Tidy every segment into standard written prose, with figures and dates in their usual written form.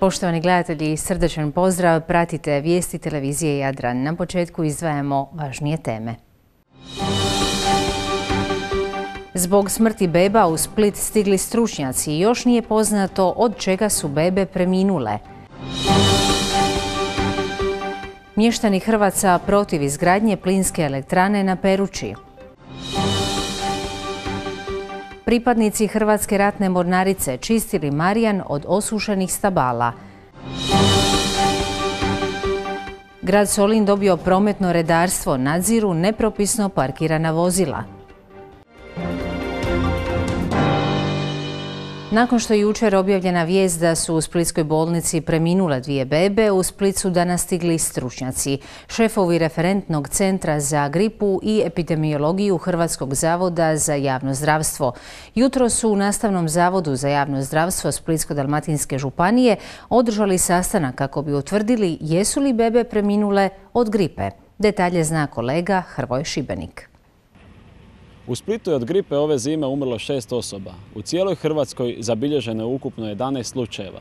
Poštovani gledatelji, srdečan pozdrav, pratite vijesti televizije Jadran. Na početku izdvajamo važnije teme. Zbog smrti beba u Split stigli stručnjaci i još nije poznato od čega su bebe preminule. Mještani Hrvaca protiv izgradnje plinske elektrane na Peruči. Pripadnici Hrvatske ratne mornarice čistili Marijan od osušenih stabala. Grad Solin dobio prometno redarstvo, nadziru nepropisno parkirana vozila. Nakon što je jučer objavljena vijest da su u splitskoj bolnici preminule 2 bebe, u Split su danas stigli stručnjaci. Šefovi referentnog centra za gripu i epidemiologiju Hrvatskog zavoda za javno zdravstvo. Jutro su u Nastavnom zavodu za javno zdravstvo Splitsko-dalmatinske županije održali sastanak kako bi utvrdili jesu li bebe preminule od gripe. Detalje zna kolega Hrvoje Šibenik. U Splitu je od gripe ove zime umrlo 6 osoba. U cijeloj Hrvatskoj zabilježeno je ukupno 11 slučajeva.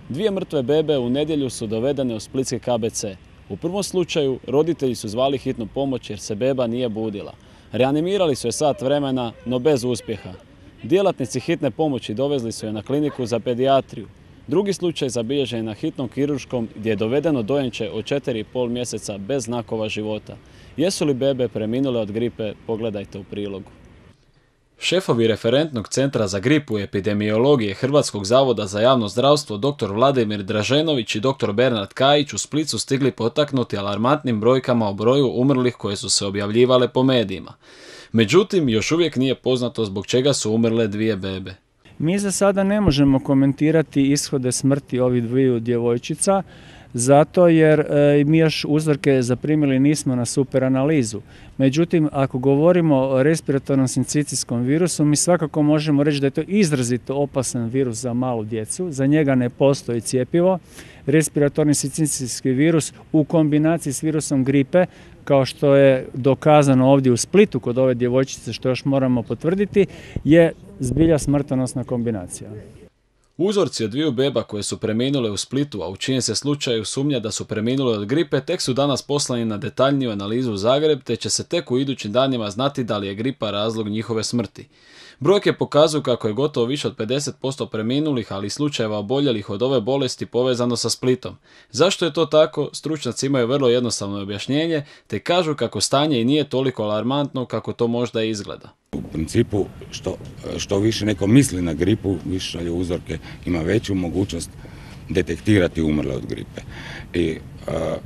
2 mrtve bebe u nedjelju su dovedene u splitski KBC. U prvom slučaju roditelji su zvali hitnu pomoć jer se beba nije budila. Reanimirali su je sat vremena, no bez uspjeha. Djelatnici hitne pomoći dovezli su je na kliniku za pedijatriju. Drugi slučaj zabilježen je na hitnom kirurškom gdje je dovedeno dojenče od 4,5 mjeseca bez znakova života. Jesu li bebe preminule od gripe? Pogledajte u prilogu. Šefovi referentnog centra za gripu i epidemiologije Hrvatskog zavoda za javno zdravstvo dr. Vladimir Draženović i dr. Bernard Kajić u Split su stigli potaknuti alarmantnim brojkama o broju umrlih koje su se objavljivale po medijima. Međutim, još uvijek nije poznato zbog čega su umrle 2 bebe. Mi za sada ne možemo komentirati ishode smrti ovih 2 djevojčica, zato jer mi još uzorke zaprimili nismo na super analizu. Međutim, ako govorimo o respiratornom sincicijskom virusu, mi svakako možemo reći da je to izrazito opasan virus za malu djecu. Za njega ne postoji cjepivo. Respiratorni sincicijski virus u kombinaciji s virusom gripe, kao što je dokazano ovdje u Splitu kod ove djevojčice, što još moramo potvrditi, je zbilja smrtonosna kombinacija. Uzorci od 2 beba koje su preminule u Splitu, a u čijem se slučaju sumnja da su preminule od gripe, tek su danas poslani na detaljniju analizu u Zagreb, te će se tek u idućim danima znati da li je gripa razlog njihove smrti. Brojke pokazuju kako je gotovo više od 50% preminulih, ali i slučajeva oboljelih od ove bolesti povezano sa Splitom. Zašto je to tako? Stručnjaci imaju vrlo jednostavno objašnjenje, te kažu kako stanje i nije toliko alarmantno kako to možda izgleda. U principu, što više neko misli na gripu, više šalje uzorke, ima veću mogućnost detektirati umrle od gripe. I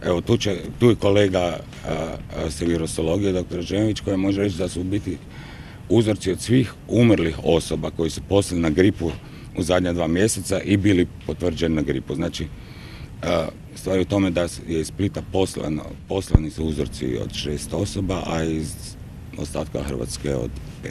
evo tu je kolega sa virusologije, dr. Ženović, koji može reći da su u biti uzorci od svih umrlih osoba koji su poslali na gripu u zadnja 2 mjeseca i bili potvrđeni na gripu. Znači, stvar je u tome da je iz Splita poslani su uzorci od 6 osoba, a iz ostatka Hrvatske od 5.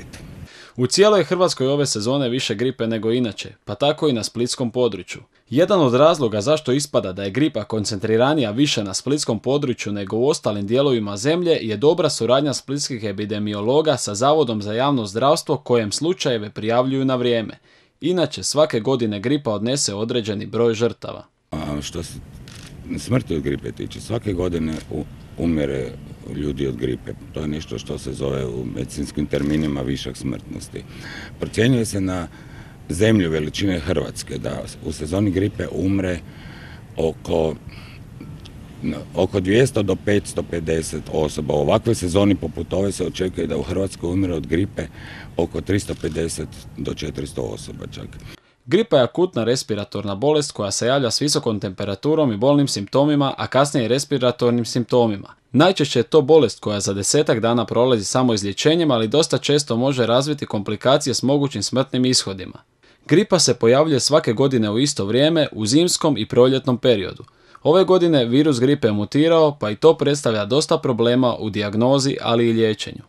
U cijeloj Hrvatskoj ove sezone više gripe nego inače, pa tako i na splitskom području. Jedan od razloga zašto ispada da je gripa koncentriranija više na splitskom području nego u ostalim dijelovima zemlje je dobra suradnja splitskih epidemiologa sa Zavodom za javno zdravstvo kojem slučajeve prijavljuju na vrijeme. Inače, svake godine gripa odnese određeni broj žrtava. Što se smrti od gripe tiče, svake godine umire ljudi od gripe. To je nešto što se zove u medicinskim terminima višak smrtnosti. Procjenjuje se na zemlju veličine Hrvatske da u sezoni gripe umre oko 200 do 550 osoba. U ovakvoj sezoni poput ove se očekuje da u Hrvatskoj umre od gripe oko 350 do 400 osoba čak. Gripa je akutna respiratorna bolest koja se javlja s visokom temperaturom i bolnim simptomima, a kasnije i respiratornim simptomima. Najčešće je to bolest koja za 10-ak dana prolazi samo izlječenjem, ali dosta često može razviti komplikacije s mogućim smrtnim ishodima. Gripa se pojavljuje svake godine u isto vrijeme, u zimskom i proljetnom periodu. Ove godine virus gripe je mutirao, pa i to predstavlja dosta problema u dijagnozi, ali i liječenju.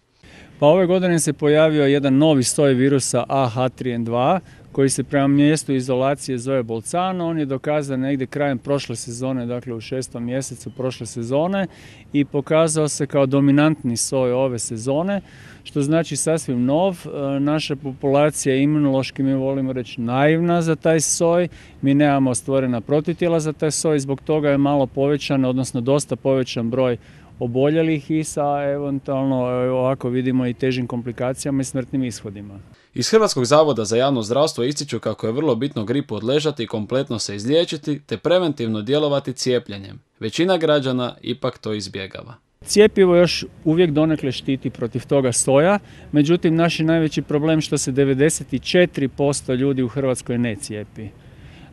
Pa ove godine se pojavio jedan novi soj virusa AH3N2 koji se prema mjestu izolacije zove Bolzano. On je dokazan negdje krajem prošle sezone, dakle u 6. mjesecu prošle sezone i pokazao se kao dominantni soj ove sezone, što znači sasvim nov. Naša populacija je imunološki, mi volimo reći, naivna za taj soj. Mi nemamo stvorena protitijela za taj soj, zbog toga je malo povećan, odnosno dosta povećan broj oboljelih i sa eventualno, ovako vidimo, i težim komplikacijama i smrtnim ishodima. Iz Hrvatskog zavoda za javno zdravstvo ističu kako je vrlo bitno gripu odležati i kompletno se izliječiti te preventivno djelovati cijepljenjem. Većina građana ipak to izbjegava. Cjepivo još uvijek donekle štiti protiv toga soja, međutim naš je najveći problem što se 94% ljudi u Hrvatskoj ne cijepi.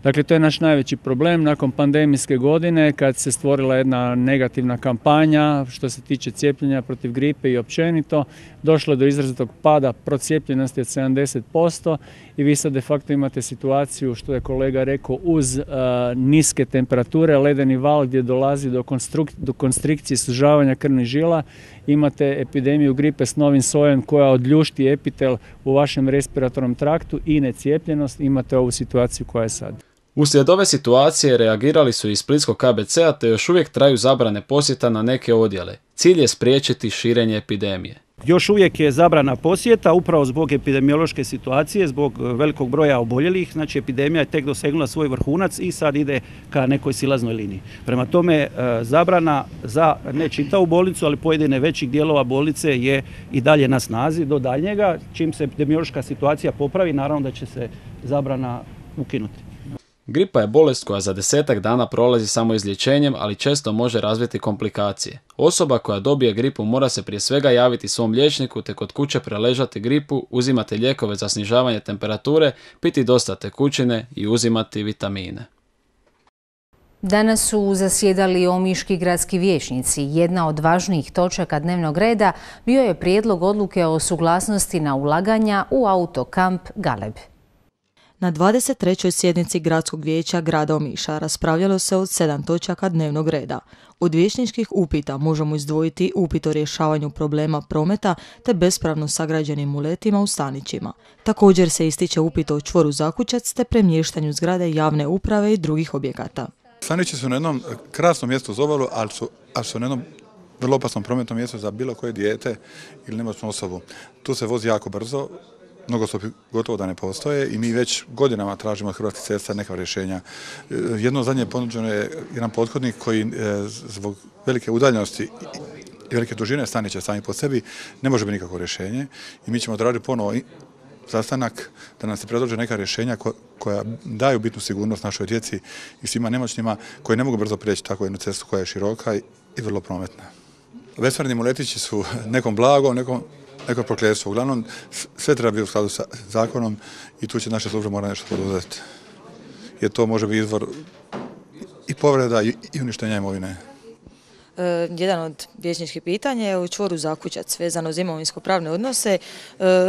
Dakle, to je naš najveći problem nakon pandemijske godine kad se stvorila jedna negativna kampanja što se tiče cijepljenja protiv gripe i općenito. Došlo je do izrazitog pada procijepljenosti od 70% i vi sad de facto imate situaciju, što je kolega rekao, uz niske temperature, ledeni val gdje dolazi do konstrikcije sužavanja krvnih žila. Imate epidemiju gripe s novim sojem koja odljušti epitel u vašem respiratornom traktu i necijepljenost. Imate ovu situaciju koja je sad. Uslijed ove situacije reagirali su i iz Splitskog KBC-a te još uvijek traju zabrane posjeta na neke odjele. Cilj je spriječiti širenje epidemije. Još uvijek je zabrana posjeta upravo zbog epidemiološke situacije, zbog velikog broja oboljelih. Znači epidemija je tek dosegnula svoj vrhunac i sad ide ka nekoj silaznoj liniji. Prema tome zabrana za ne čitavu bolnicu, ali pojedine većih dijelova bolnice je i dalje na snazi do daljnjega. Čim se epidemiološka situacija popravi, naravno da će se zabrana ukinuti. Gripa je bolest koja za 10-ak dana prolazi samo izlječenjem, ali često može razviti komplikacije. Osoba koja dobije gripu mora se prije svega javiti svom liječniku te kod kuće preležati gripu, uzimati lijekove za snižavanje temperature, piti dosta tekućine i uzimati vitamine. Danas su zasjedali omiški gradski vijećnici. Jedna od važnijih točaka dnevnog reda bio je prijedlog odluke o suglasnosti na ulaganja u autokamp Galeb. Na 23. sjednici Gradskog vijeća grada Omiša raspravljalo se od 7 točaka dnevnog reda. Od vijećničkih upita možemo izdvojiti upit o rješavanju problema prometa te bespravno sagrađenim uletima u stanićima. Također se ističe upit o čvoru Zakučac te premještanju zgrade javne uprave i drugih objekata. Stanići su na jednom krasnom mjestu uz obalu, ali su na jednom vrlo opasnom prometnom mjestu za bilo koje dijete ili nemoćnu osobu. Tu se vozi jako brzo. Nogostupi gotovo da ne postoje i mi već godinama tražimo od Hrvatskih cesta neka rješenja. Jedno zadnje ponuđeno je jedan pothodnik koji zbog velike udaljenosti i velike dužine stanića sami po sebi ne može biti nikakvo rješenje i mi ćemo tražiti ponovo sastanak da nam se predlože neka rješenja koja daju bitnu sigurnost našoj djeci i svima nemoćnima koji ne mogu brzo prijeći tako jednu cestu koja je široka i vrlo prometna. Bespravni muletići su nekom blago, neko prokletstvo. Uglavnom, sve treba biti u skladu sa zakonom i tu će naše službe morati nešto poduzeti. Jer to može biti izvor i povreda i uništenja imovine. Jedan od vijećničkih pitanja je u čvoru Zakučac vezano za imovinsko-pravne odnose,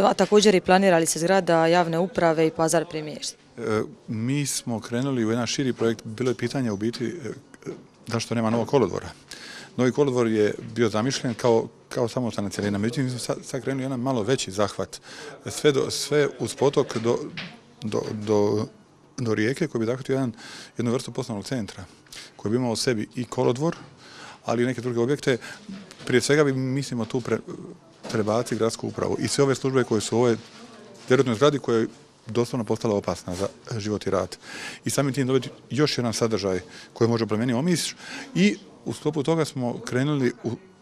a također i planira li se zgrada javne uprave i pazar premještati. Mi smo krenuli u jedan širi projekt. Bilo je pitanje u biti zašto nema novog kolodvora. Novi kolodvor je bio zamišljen kao samostalna cjelina. Međutim, mi smo sad krenuli jedan malo veći zahvat. Sve uz potok do rijeke koji bi zahvatio jednu vrstu poslovnog centra koji bi imao u sebi i kolodvor, ali i neke druge objekte. Prije svega bi mislimo tu prebaciti gradsku upravu i sve ove službe koje su u ovoj derutnoj zgradi koja je doslovno postala opasna za život i rad. I samim tim dobiti još jedan sadržaj koji može promijeniti Omiš i u sklopu toga smo krenuli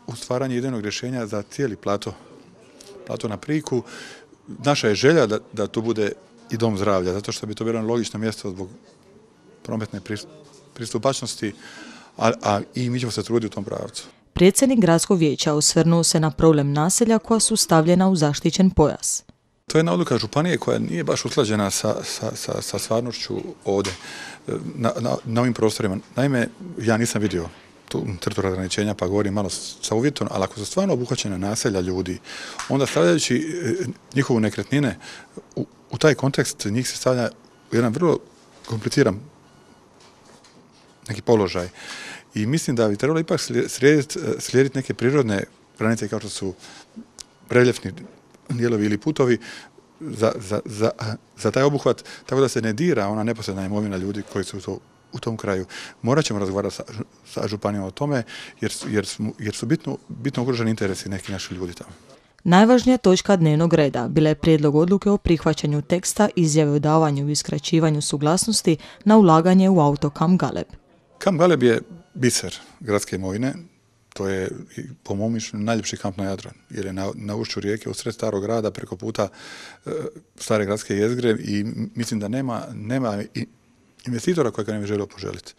u stvaranje idejnog rješenja za cijeli plato na Priku. Naša je želja da to bude i dom zdravlja, zato što bi to bilo logično mjesto zbog prometne pristupačnosti, a i mi ćemo se truditi u tom pravcu. Predsjednik Gradskog vijeća osvrnuo se na problem naselja koja su stavljena u zaštićen pojas. To je jedna odluka županije koja nije baš usklađena sa stvarnošću ovdje, na ovim prostorima. Naime, ja nisam vidio tu crtu razgraničenja pa govorim malo sa uvjetom, ali ako su stvarno obuhvaćene naselja ljudi, onda stavljajući njihovu nekretnine u taj kontekst njih se stavlja u jedan vrlo kompliciran neki položaj. I mislim da bi trebalo ipak slijediti neke prirodne granice kao što su reljefni dijelovi ili putovi za taj obuhvat, tako da se ne dira ona neposredna imovina ljudi koji su u tom kraju. Morat ćemo razgovarati sa županijom o tome, jer su bitno ugroženi interesi nekih naših ljudi tamo. Najvažnija točka dnevnog reda bila je prijedlog odluke o prihvaćanju teksta izjave o davanju i uskraćivanju suglasnosti na ulaganje u auto Kamp Galeb. Kamp Galeb je biser gradske imovine. To je, po mom mišljenju, najljepši kamp na Jadranu, jer je na ušću rijeke, u sred starog grada, preko puta stare gradske jezgre i mislim da nema investitora koji ga ne bi želio poželiti.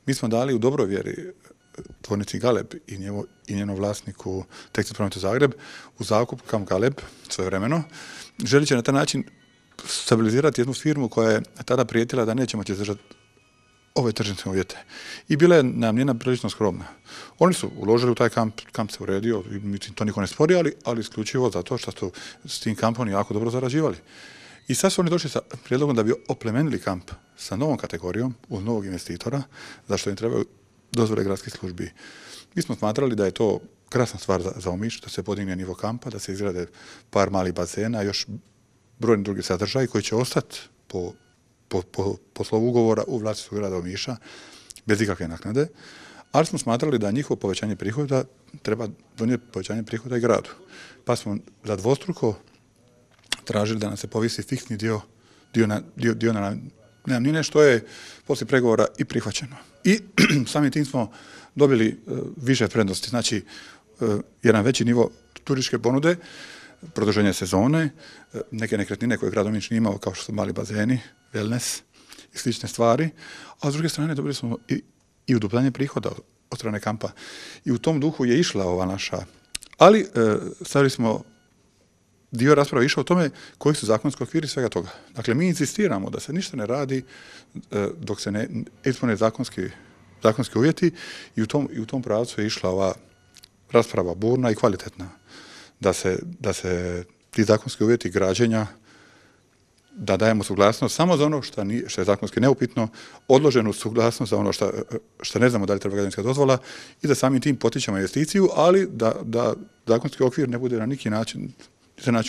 Mi smo dali u dobroj vjeri tvornici Galeb i njenom vlasniku Tekstil Prometu Zagreb u zakup Kamp Galeb svojevremeno. Želit će na taj način stabilizirati jednu firmu koja je tada prijetila da neće moći izdržati ove tržišne uvjete. I bila je najamnina prilično skromna. Oni su uložili u taj kamp se uredio, mislim, to niko ne spori, ali isključivo zato što su s tim kampom jako dobro zarađivali. I sad su oni došli sa prijedlogom da bi oplemenili kamp sa novom kategorijom, uz novog investitora, zašto im trebaju dozvole gradskih službi. Mi smo smatrali da je to krasna stvar za Omiš, da se podigne nivo kampa, da se izgrade par malih bazena, još brojni drugi sadržaji koji će ostati po slovu ugovora u vlasništvu grada Omiša, bez ikakve naknade, ali smo smatrali da njihovo povećanje prihoda treba donijeti povećanje prihoda i gradu. Pa smo za dvostruko tražili da nam se povisi fiksni dio na najamnine, što je poslije pregovora i prihvaćeno. I samim tim smo dobili više prednosti, znači jedan veći nivo turističke ponude, produženje sezone, neke nekretnine koje grad Omiš nije imao, kao što su mali bazeni, wellness i slične stvari, a s druge strane dobili smo i uduplanje prihoda od strane kampa. I u tom duhu je išla ova naša, ali stavili smo dio rasprave išao o tome koji su zakonski okviri svega toga. Dakle, mi insistiramo da se ništa ne radi dok se ne ispune zakonski uvjeti i u tom pravcu je išla ova rasprava burna i kvalitetna. Da se ti zakonski uvjeti građenja, da dajemo suglasnost samo za ono što je zakonski neupitno, odloženu suglasnost za ono što ne znamo da li treba građevinska dozvola i da samim tim potičemo investiciju, ali da zakonski okvir ne bude na neki način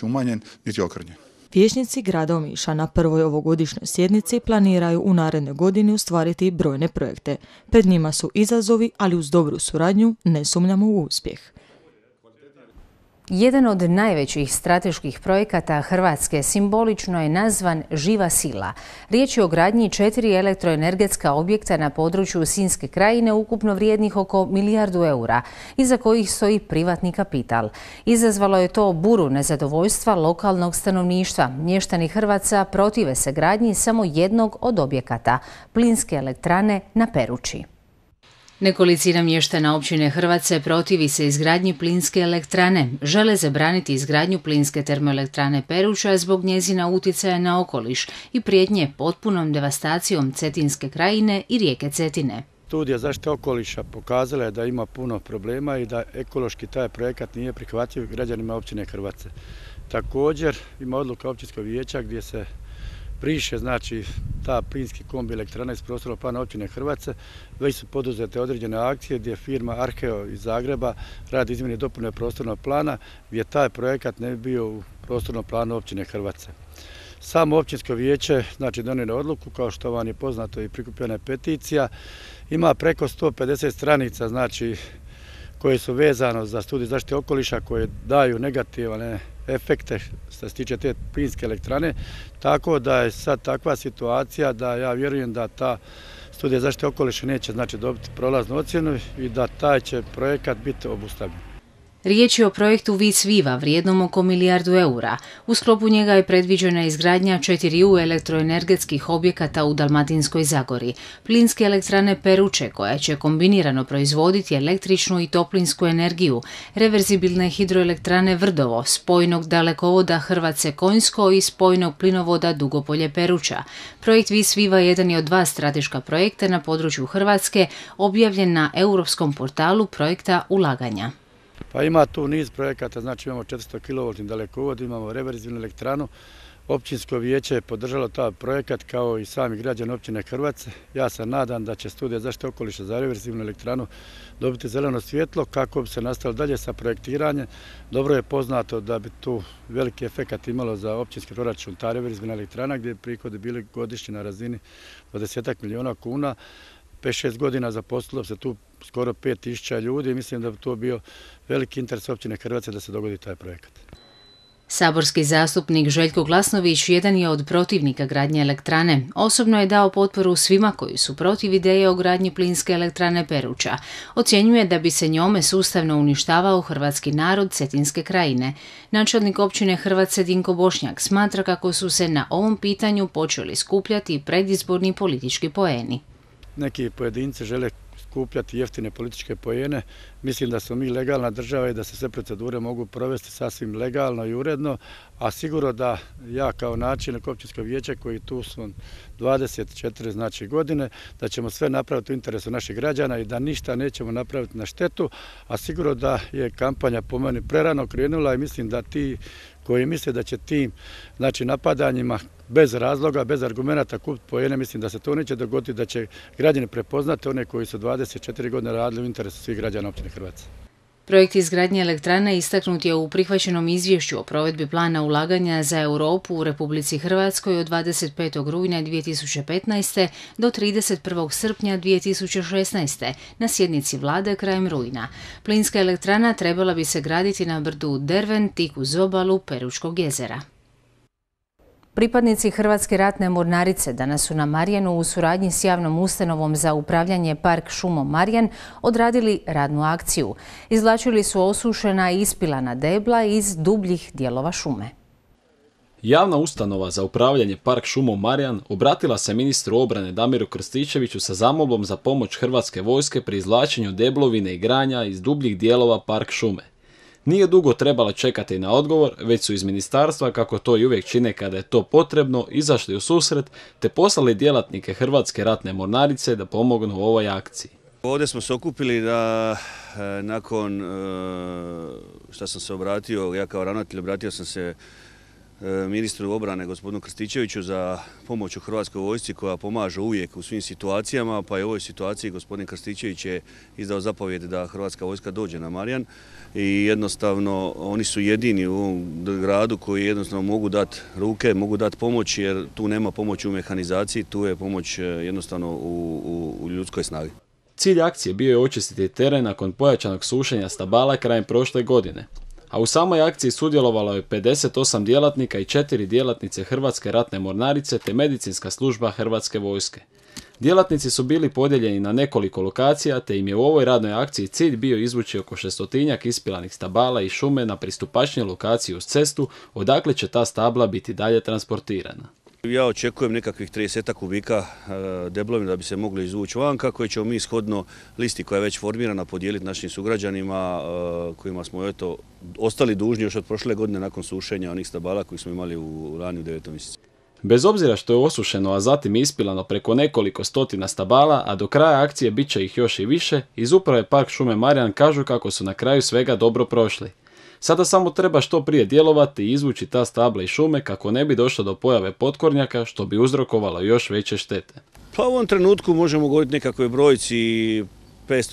umanjen niti okrnjen. Vijećnici grada Omiša na prvoj ovogodišnjoj sjednici planiraju u narednoj godini ostvariti brojne projekte. Pred njima su izazovi, ali uz dobru suradnju ne sumnjamo u uspjeh. Jedan od najvećih strateških projekata Hrvatske simbolično je nazvan Živa sila. Riječ je o gradnji 4 elektroenergetska objekta na području Sinjske krajine ukupno vrijednih oko milijardu eura, iza kojih stoji privatni kapital. Izazvalo je to buru nezadovoljstva lokalnog stanovništva. Mještani Hrvaca protive se gradnji samo jednog od objekata, plinske elektrane na Peruči. Nekolicina mještana općine Hrvace protivi se izgradnji plinske elektrane. Žele zabraniti izgradnju plinske termoelektrane Peruča zbog njezina utjecaja na okoliš i prijetnje potpunom devastacijom Cetinske krajine i rijeke Cetine. Studija zaštite okoliša pokazala je da ima puno problema i da ekološki taj projekat nije prihvatljiv građanima općine Hrvace. Također ima odluka općinskog vijeća gdje se briše, znači, ta plinski kombi elektrana iz prostornog plana općine Hrvace. Već su poduzete određene akcije gdje firma Arheo iz Zagreba radi izmjene i dopune prostornog plana gdje taj projekat ne bi bio u prostornom planu općine Hrvace. Samo općinsko vijeće, znači, donijelo odluku, kao što vam je poznato i prikupljena je peticija, ima preko 150 stranica, znači, koje su vezano za studiju zaštite okoliša, koje daju negativne efekte što se tiče te plinske elektrane, tako da je sad takva situacija da ja vjerujem da ta studija zaštite okoliša neće, znači, dobiti prolaznu ocjenu i da taj će projekat biti obustavljen. Riječ je o projektu Vis Viva vrijednom oko milijardu eura. U sklopu njega je predviđena izgradnja 4 elektroenergetskih objekata u Dalmatinskoj Zagori. Plinske elektrane Peruče, koja će kombinirano proizvoditi električnu i toplinsku energiju, reverzibilne hidroelektrane Vrdovo, spojnog dalekovoda Hrvace-Konjsko i spojnog plinovoda Dugopolje Peruča. Projekt Vis Viva jedan je od 2 strateška projekta na području Hrvatske, objavljen na europskom portalu projekta ulaganja. Pa ima tu niz projekata, znači imamo 400 kV dalekovod, imamo reverzibilnu elektranu, Općinsko vijeće je podržalo taj projekat kao i sami građani općine Hrvace. Ja se nadam da će studija zaštite okoliša za reverzibilnu elektranu dobiti zeleno svjetlo kako bi se nastavilo dalje sa projektiranjem. Dobro je poznato da bi tu veliki efekat imalo za općinski proračun ta reverzibilna elektrana gdje bi prihodi bili godišnji na razini 20 milijuna kuna. 5-6 godina zaposlilo se tu skoro 5000 ljudi i mislim da bi to bio veliki interes općine Hrvace da se dogodi taj projekat. Saborski zastupnik Željko Glasnović jedan je od protivnika gradnje elektrane. Osobno je dao potporu svima koji su protiv ideje o gradnji plinske elektrane Peruča. Ocjenjuje da bi se njome sustavno uništavao hrvatski narod Cetinske krajine. Načelnik općine Hrvace Dinko Bošnjak smatra kako su se na ovom pitanju počeli skupljati predizborni politički poeni. Neki pojedinci žele skupljati jeftine političke poene. Mislim da smo mi legalna država i da se sve procedure mogu provesti sasvim legalno i uredno, a sigurno da ja kao načelnik općinskog vijeća koji tu sam 24 godine, da ćemo sve napraviti u interesu naših građana i da ništa nećemo napraviti na štetu, a sigurno da je kampanja po meni prerano krenula i mislim da ti koji misle da će tim napadanjima bez razloga, bez argumenata kupiti poene, mislim da se to neće dogoditi, da će građani prepoznati one koji su 24 godine radili u interesu svih građana općine Hrvace. Projekt izgradnje elektrane istaknut je u prihvaćenom izvješću o provedbi plana ulaganja za Europu u Republici Hrvatskoj od 25. rujna 2015. do 31. srpnja 2016. na sjednici vlade krajem rujna. Plinska elektrana trebala bi se graditi na brdu Derven tik uz obalu Peručkog jezera. Pripadnici Hrvatske ratne mornarice danas su na Marjanu u suradnji s javnom ustanovom za upravljanje Park šumom Marjan odradili radnu akciju. Izvlačili su osušena i ispilana debla iz dubljih dijelova šume. Javna ustanova za upravljanje Park šumom Marjan obratila se ministru obrane Damiru Krstičeviću sa zamolbom za pomoć Hrvatske vojske pri izvlačenju deblovine i granja iz dubljih dijelova Park šume. Nije dugo trebalo čekati na odgovor, već su iz ministarstva, kako to i uvijek čine kada je to potrebno, izašli u susret te poslali djelatnike Hrvatske ratne mornarice da pomognu u ovoj akciji. Ovdje smo se okupili da nakon što sam se obratio, ja kao ravnatelj obratio sam se ministru obrane gospodinu Krstičeviću za pomoć u Hrvatskoj vojsci koja pomaže uvijek u svim situacijama, pa i u ovoj situaciji gospodin Krstičević je izdao zapovjed da Hrvatska vojska dođe na Marjan i jednostavno oni su jedini u ovom gradu koji jednostavno mogu dati ruke, mogu dati pomoć jer tu nema pomoći u mehanizaciji, tu je pomoć jednostavno u ljudskoj snagi. Cilj akcije bio je očistiti teren nakon pojačanog sušenja stabala krajem prošle godine. A u samoj akciji sudjelovalo je 58 djelatnika i 4 djelatnice Hrvatske ratne mornarice te medicinska služba Hrvatske vojske. Djelatnici su bili podijeljeni na nekoliko lokacija te im je u ovoj radnoj akciji cilj bio izvući oko 600-tinjak ispilanih stabala i šume na pristupačniju lokaciju uz cestu, odakle će ta stabla biti dalje transportirana. Ja očekujem nekakvih 30 kubika deblovina da bi se mogli izvući vanka, koje ćemo mi shodno listi koja je već formirana podijeliti našim sugrađanima kojima smo ostali dužni još od prošle godine nakon sušenja onih stabala koji smo imali u rani u 9. mjesecu. Bez obzira što je osušeno, a zatim ispilano preko nekoliko stotina stabala, a do kraja akcije bit će ih još i više, iz uprave Park šume Marjan kažu kako su na kraju svega dobro prošli. Sada samo treba što prije djelovati i izvući ta stabla i šume kako ne bi došlo do pojave potkornjaka što bi uzrokovalo još veće štete. Pa u ovom trenutku možemo govoriti nekakvoj brojci 500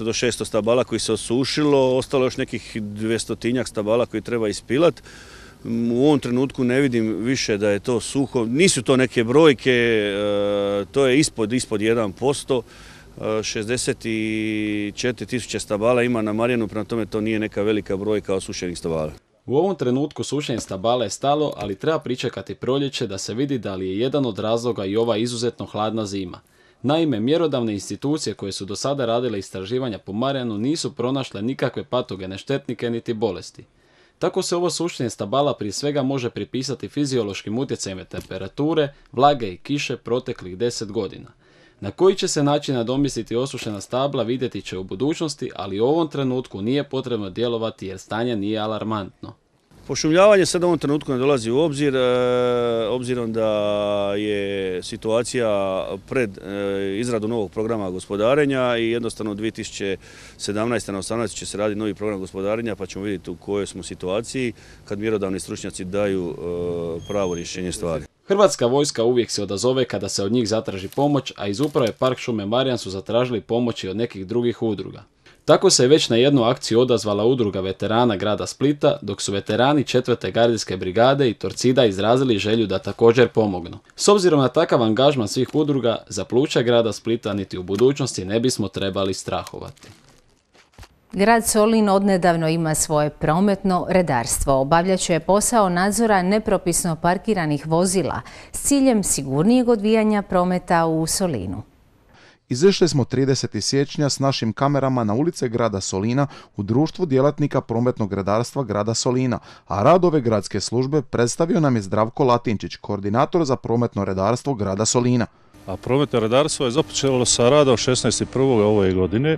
do 600 stabala koji se osušilo, ostalo još nekih 200-tinjak stabala koji treba ispilati. U ovom trenutku ne vidim više da je to suho, nisu to neke brojke, to je ispod 1%. 64.000 stabala ima na Marjanu, prema tome to nije neka velika brojka osušenih stabala. U ovom trenutku sušenje stabala je stalo, ali treba pričekati proljeće da se vidi da li je jedan od razloga i ova izuzetno hladna zima. Naime, mjerodavne institucije koje su do sada radile istraživanja po Marjanu nisu pronašle nikakve patogene štetnike niti bolesti. Tako se ovo sušenje stabala prije svega može pripisati fiziološkim utjecajima temperature, vlage i kiše proteklih 10 godina. Na koji će se način nadomjestiti osušena stabla vidjeti će u budućnosti, ali u ovom trenutku nije potrebno djelovati jer stanje nije alarmantno. Pošumljavanje sad u ovom trenutku ne dolazi u obzir, obzirom da je situacija pred izradu novog programa gospodarenja i jednostavno 2017. na 2018. će se raditi novi program gospodarenja pa ćemo vidjeti u kojoj smo situaciji kad mjerodavni stručnjaci daju pravo rješenje stvari. Hrvatska vojska uvijek se odazove kada se od njih zatraži pomoć, a iz uprave Park šume Marjan su zatražili pomoći od nekih drugih udruga. Tako se već na jednu akciju odazvala udruga veterana grada Splita, dok su veterani 4. gardijske brigade i Torcida izrazili želju da također pomognu. S obzirom na takav angažman svih udruga, za pluća grada Splita niti u budućnosti ne bismo trebali strahovati. Grad Solin odnedavno ima svoje prometno redarstvo. Obavljat će posao nadzora nepropisno parkiranih vozila s ciljem sigurnijeg odvijanja prometa u Solinu. Izašli smo 30. siječnja s našim kamerama na ulice grada Solina u društvu djelatnika prometnog redarstva grada Solina, a rad ove gradske službe predstavio nam je Zdravko Latinčić, koordinator za prometno redarstvo grada Solina. A prometno redarstvo je započelo sa radom 16.1. ove godine,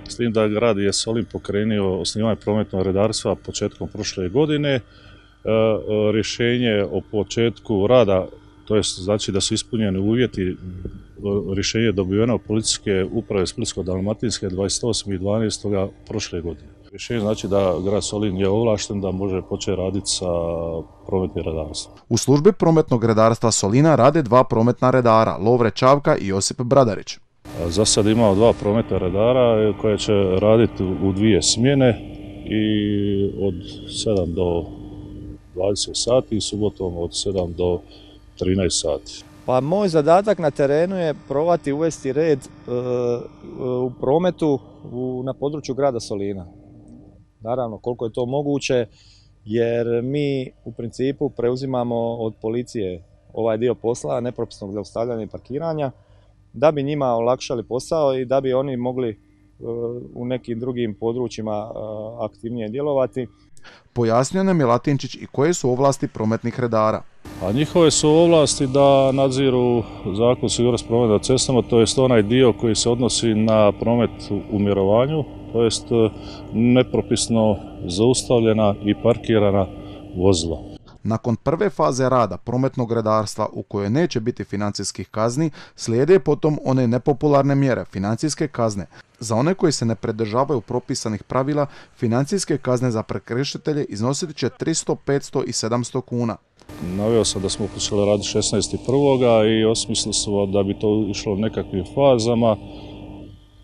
s tim da grad je Solin pokrenio osnivanje prometnog redarstva početkom prošle godine. Rješenje o početku rada, to je znači da su ispunjeni uvjeti, rješenje je dobiveno od policijske uprave Splitsko-dalmatinske 28.12. prošle godine. Rješenje znači da grad Solin je ovlašten da može početi raditi sa prometnim redarstvom. U službi prometnog redarstva Solina rade 2 prometna redara, Lovre Čavka i Josip Bradarić. Za sad imamo 2 prometna redara koje će raditi u 2 smjene i od 7 do 20 sati i subotom od 7 do 13 sati. Pa moj zadatak na terenu je probati uvesti red u prometu na području grada Solina. Naravno, koliko je to moguće, jer mi u principu preuzimamo od policije ovaj dio posla, nepropisnog zaustavljanja i parkiranja, da bi njima olakšali posao i da bi oni mogli u nekim drugim područjima aktivnije djelovati. Pojasnio nam je Latinčić i koje su ovlasti prometnih redara. A njihove su ovlasti da nadziru zakon sigurnosti prometa na cestama, to jest onaj dio koji se odnosi na promet u mirovanju, to jest nepropisno zaustavljena i parkirana vozila. Nakon prve faze rada prometnog redarstva u kojoj neće biti financijskih kazni, slijede potom one nepopularne mjere, financijske kazne. Za one koji se ne pridržavaju propisanih pravila, financijske kazne za prekršitelje iznosit će 300, 500 i 700 kuna. Naveo sam da smo počeli raditi 16.1. i osmislili smo da bi to išlo nekakvim fazama.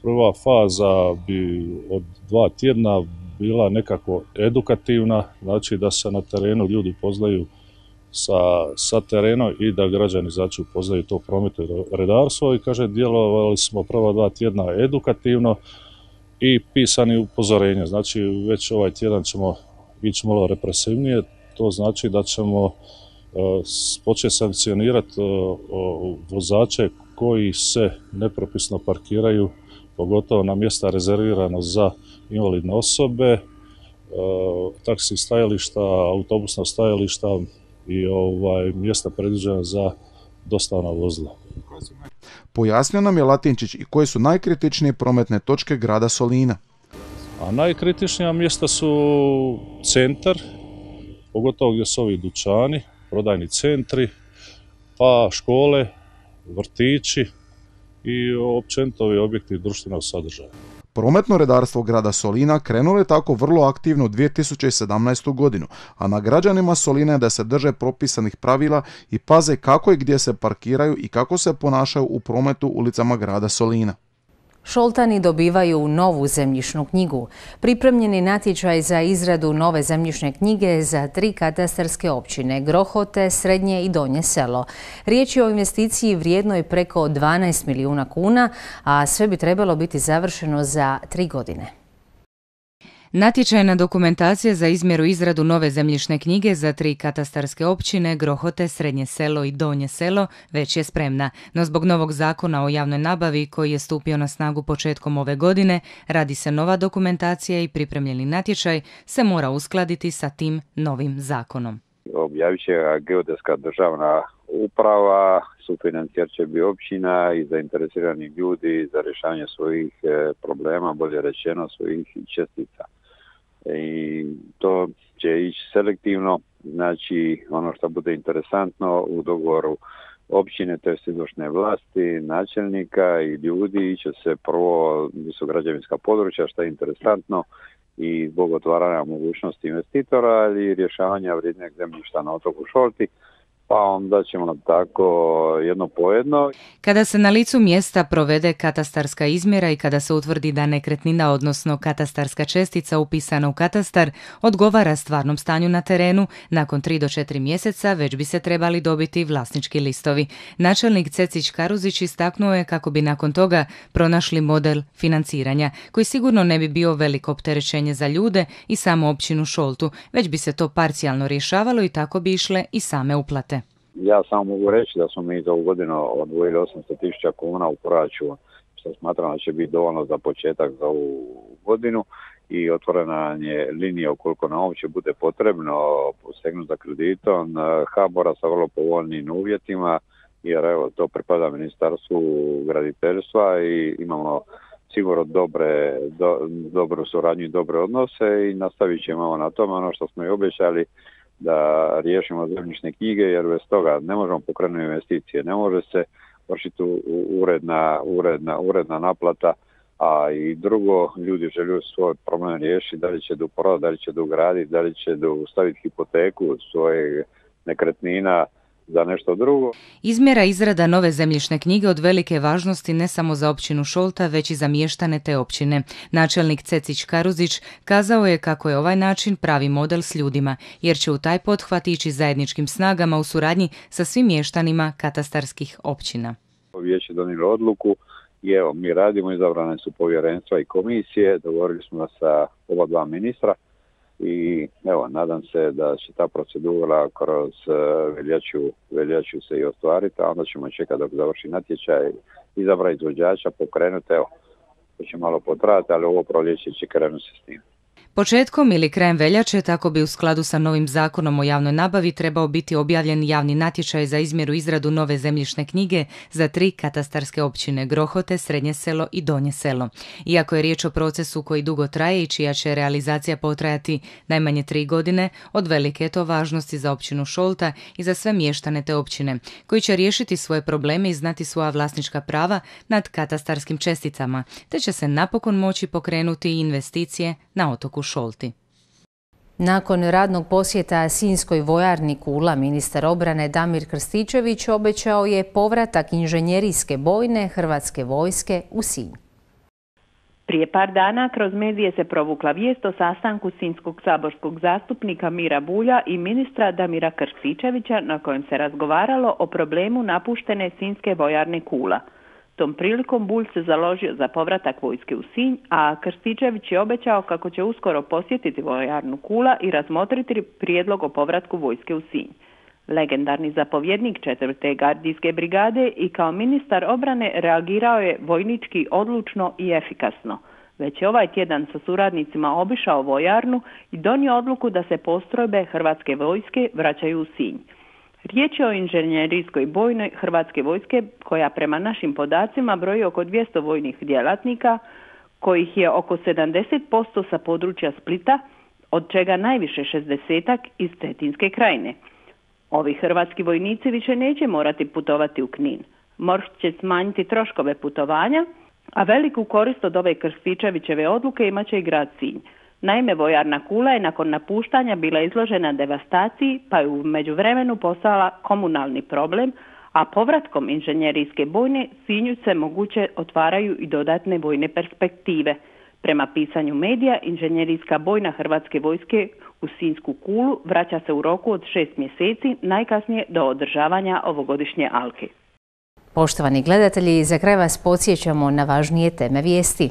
Prva faza bi od 2 tjedna bila nekako edukativna, znači da se na terenu ljudi poznaju sa terenom i da građani znači upoznaju to prometno redarstvo i kaže djelovali smo prva 2 tjedna edukativno i pisani upozorenja. Znači već ovaj tjedan ćemo ići malo represivnije, to znači da ćemo početi sankcionirati vozače koji se nepropisno parkiraju, pogotovo na mjesta rezervirana za invalidne osobe, taksi stajališta, autobusna stajališta i mjesta predviđena za dostavna vozila. Pojasnio nam je Latinčić i koje su najkritičnije prometne točke grada Solina. A najkritičnija mjesta su centar, pogotovo gdje su ovi dućani, prodajni centri, pa škole, vrtići i općenito ovi objekti društvenog sadržaja. Prometno redarstvo grada Solina krenulo je tako vrlo aktivno u 2017. godinu, a na građanima Solina je da se drže propisanih pravila i paze kako i gdje se parkiraju i kako se ponašaju u prometu ulicama grada Solina. Šoltani dobivaju novu zemljišnu knjigu. Pripremljeni natječaj za izradu nove zemljišne knjige za 3 katastarske općine, Grohote, Srednje i Donje Selo. Riječ je o investiciji vrijednoj preko 12 milijuna kuna, a sve bi trebalo biti završeno za 3 godine. Natječajna dokumentacija za izmjeru i izradu nove zemljišne knjige za 3 katastarske općine, Grohote, Srednje Selo i Donje Selo, već je spremna. No zbog novog zakona o javnoj nabavi koji je stupio na snagu početkom ove godine, radi se nova dokumentacija i pripremljeni natječaj se mora uskladiti sa tim novim zakonom. Objavit će Geodetska državna uprava, sufinancijer će biti općina i zainteresirani ljudi za rješavanje svojih problema, bolje rečeno svojih čestica. i to će ići selektivno, znači ono što bude interesantno u dogovoru općine, to je izvršne vlasti, načelnika i ljudi, će se prvo su građevinska područja, što je interesantno i zbog otvaranja mogućnosti investitora, ali i rješavanja vrijednog zemljišta na otoku Šolti, pa onda ćemo tako jedno po jedno. Kada se na licu mjesta provede katastarska izmjera i kada se utvrdi da nekretnina, odnosno katastarska čestica upisana u katastar, odgovara stvarnom stanju na terenu, nakon 3 do 4 mjeseca već bi se trebali dobiti vlasnički listovi. Načelnik Cecić Karuzić istaknuo je kako bi nakon toga pronašli model financiranja, koji sigurno ne bi bio veliko opterećenje za ljude i samu općinu Šoltu, već bi se to parcijalno rješavalo i tako bi išle i same uplate. Ja samo mogu reći da smo mi za ovu godinu odvojili 800.000 kuna u proračun, što smatram da će biti dovoljno za početak za ovu godinu i otvorena je linija ukoliko nam uopće bude potrebno posegnuti za kreditom HBOR-a sa vrlo povoljnim uvjetima, jer evo to pripada Ministarstvu graditeljstva i imamo sigurno dobru suradnju i dobre odnose i nastavit ćemo na tome ono što smo i obećali, da riješimo zemljišne knjige, jer bez toga ne možemo pokrenuti investicije, ne može se vršiti uredna naplata, a i drugo, ljudi žele svoj problem riješiti, da li će da prodati, da li će da ugraditi, da li će da staviti hipoteku svoje nekretnina za nešto drugo. Izmjera izrada nove zemljišne knjige od velike važnosti ne samo za općinu Šolta, već i za mještane te općine. Načelnik Cecić Karuzić kazao je kako je ovaj način pravi model s ljudima, jer će u taj pothvat ići zajedničkim snagama u suradnji sa svim mještanima katastarskih općina. Vijeće donijelo odluku i evo, mi radimo, izabrane su povjerenstva i komisije, dogovorili smo sa oba dva ministra, i evo, nadam se da će ta procedura kroz veljaču se i ostvariti, a onda ćemo čekati dok završi natječaj, izabrati izvođača, pokrenuti, evo, to će malo potrajati, ali ovo proljeće će krenuti se s tim. Početkom ili krajem veljače, tako bi u skladu sa novim zakonom o javnoj nabavi trebao biti objavljen javni natječaj za izmjeru izradu nove zemljišne knjige za 3 katastarske općine Grohote, Srednje selo i Donje selo. Iako je riječ o procesu koji dugo traje i čija će realizacija potrajati najmanje 3 godine, od velike je to važnosti za općinu Šolta i za sve mještane te općine, koji će riješiti svoje probleme i znati svoja vlasnička prava nad katastarskim česticama, te će se napokon moći pokrenuti i investicije na otoku Šolti. Nakon radnog posjeta Sinjskoj vojarni Kula, ministar obrane Damir Krstičević obećao je povratak inženjerijske bojne Hrvatske vojske u Sinj. Prije par dana kroz medije se provukla vijest o sastanku sinjskog saborskog zastupnika Mira Bulja i ministra Damira Krstičevića na kojem se razgovaralo o problemu napuštene Sinjske vojarne Kula. Tom prilikom Bulj se založio za povratak vojske u Sinj, a Krstičević je obećao kako će uskoro posjetiti vojarnu Kula i razmotriti prijedlog o povratku vojske u Sinj. Legendarni zapovjednik 4. gardijske brigade i kao ministar obrane reagirao je vojnički odlučno i efikasno. Već je ovaj tjedan sa suradnicima obišao vojarnu i donio odluku da se postrojbe Hrvatske vojske vraćaju u Sinj. Riječ je o inženjerijskoj bojnoj Hrvatske vojske koja prema našim podacima broji oko 200 vojnih djelatnika, kojih je oko 70% sa područja Splita, od čega najviše 60-ak iz Cetinske krajine. Ovi hrvatski vojnici više neće morati putovati u Knin. MORH će smanjiti troškove putovanja, a veliku korist od ove Krstičevićeve odluke imat će i grad Sinj. Naime, vojarna Kula je nakon napuštanja bila izložena devastaciji, pa je u međuvremenu postala komunalni problem, a povratkom inženjerijske bojne Sinju se moguće otvaraju i dodatne vojne perspektive. Prema pisanju medija, inženjerijska bojna Hrvatske vojske u Sinjsku Kulu vraća se u roku od 6 mjeseci, najkasnije do održavanja ovogodišnje alke. Poštovani gledatelji, za kraj vas podsjećamo na važnije teme vijesti.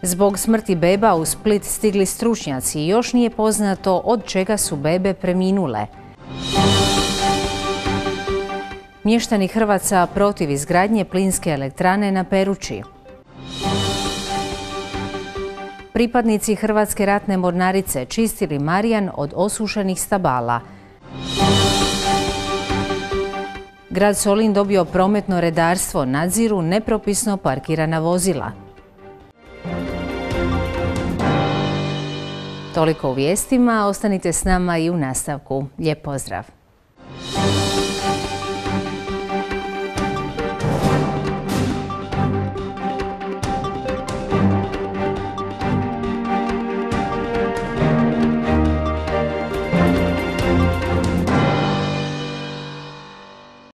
Zbog smrti beba u Split stigli stručnjaci i još nije poznato od čega su bebe preminule. Mještani Hrvaca protiv izgradnje plinske elektrane na Peruči. Pripadnici Hrvatske ratne mornarice čistili Marijan od osušenih stabala. Grad Solin dobio prometno redarstvo, nadziru nepropisno parkirana vozila. Toliko u vijestima, ostanite s nama i u nastavku. Lijep pozdrav!